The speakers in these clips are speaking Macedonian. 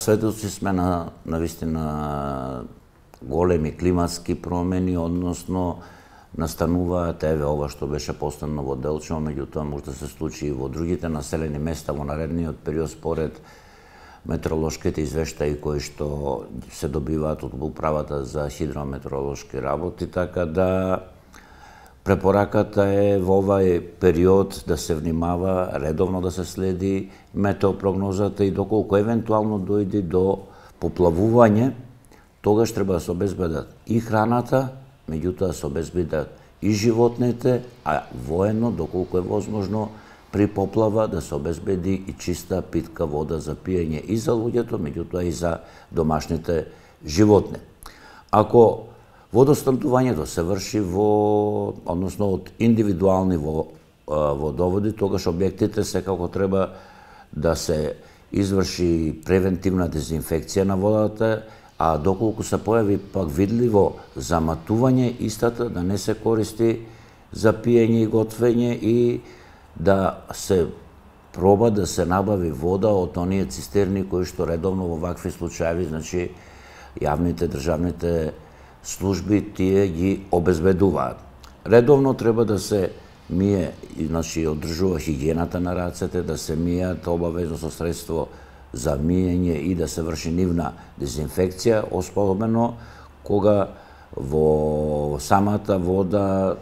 Сведоци сме на навистина големи климатски промени, односно настануваат ова што беше постојано во Делчево, меѓутоа може да се случи и во другите населени места во наредниот период според метеоролошките извештаи кои што се добиваат од Управата за хидрометеоролошки работи, така да препораката е во овај период да се внимава, редовно да се следи метеопрогнозата и доколку евентуално дојде до поплавување, тогаш треба да се обезбедат и храната, меѓутоа да се обезбедат и животните, а воено, доколку е возможно, при поплава да се обезбеди и чиста питка вода за пиење и за луѓето, меѓутоа и за домашните животни. Ако водоснабдувањето се врши односно од индивидуални водоводи, тогаш објектите секако треба да се изврши превентивна дезинфекција на водата, а доколку се појави пак видливо заматување, истата да не се користи за пиење и готвење и да се проба да се набави вода од оние цистерни кои што редовно во вакви случаи, значи јавните државните служби тие ги обезбедуваат. Редовно треба да се мие, значи одржува хигиената на рацете, да се мијат обавезно со средство за миење и да се врши нивна дезинфекција, особено кога во самата вода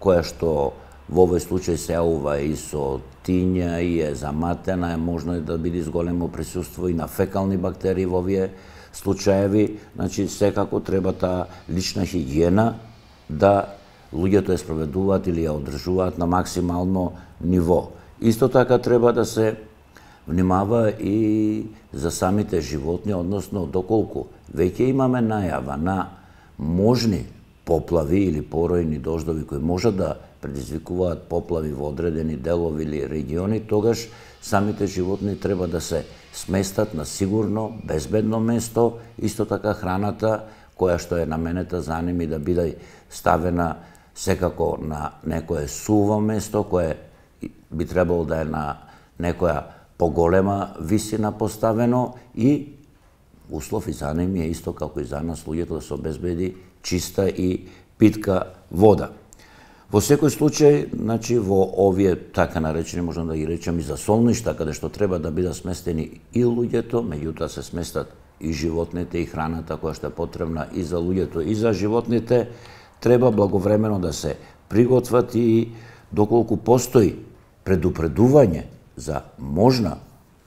која што во овој случај се јавува и со тиња и е заматена, е можно да биде зголемо присуство и на фекални бактерии во овие случаеви, значи секако треба таа лична хигиена да луѓето ја спроведуваат или ја одржуваат на максимално ниво. Исто така треба да се внимава и за самите животни, односно доколку веќе имаме најава на можни поплави или поројни дождови кои можат да предизвикуваат поплави во одредени делови или региони, тогаш самите животни треба да се сместат на сигурно, безбедно место, исто така храната која што е наменета за ними да биде ставена секако на некое суво место, кое би требало да е на некоја поголема висина поставено и услов и за ними е исто како и за нас луѓето да се обезбеди чиста и питка вода. Во секој случај, значи во овие така наречени, можам да ги речем и за солништа, каде што треба да бидат сместени и луѓето, меѓутоа се сместат и животните и храната која што е потребна и за луѓето и за животните, треба благовремено да се приготват и доколку постои предупредување за можна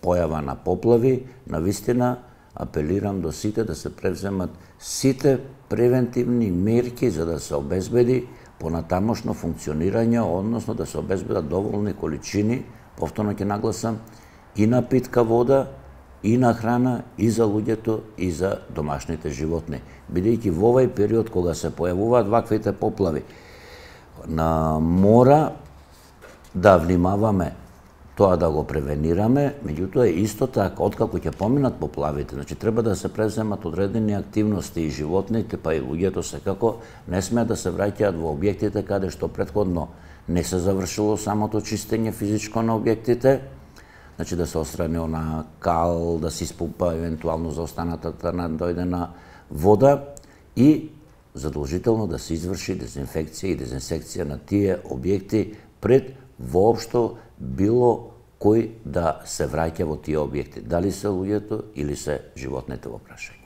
појава на поплави, навистина апелирам до сите да се превземат сите превентивни мерки за да се обезбеди понатамошно функционирање, односно да се обезбедат доволни количини, повторно ќе нагласам, и на питка вода, и на храна, и за луѓето, и за домашните животни. Бидејќи во овај период кога се појавуваат ваквите поплави, мора да внимаваме тоа да го превенираме, меѓутоа исто така, откако ќе поминат поплавите, значи треба да се преземат одредени активности и животните, па и луѓето секако не смеат да се враќаат во објектите каде што претходно не се завршило самото чистење физичко на објектите, значи да се отстрани она кал, да се испупа евентуално за останатата надојдена вода и задолжително да се изврши дезинфекција и дезинсекција на тие објекти пред воопшто било кој да се враќа во тие објекти, дали се луѓето или се животните во прашање.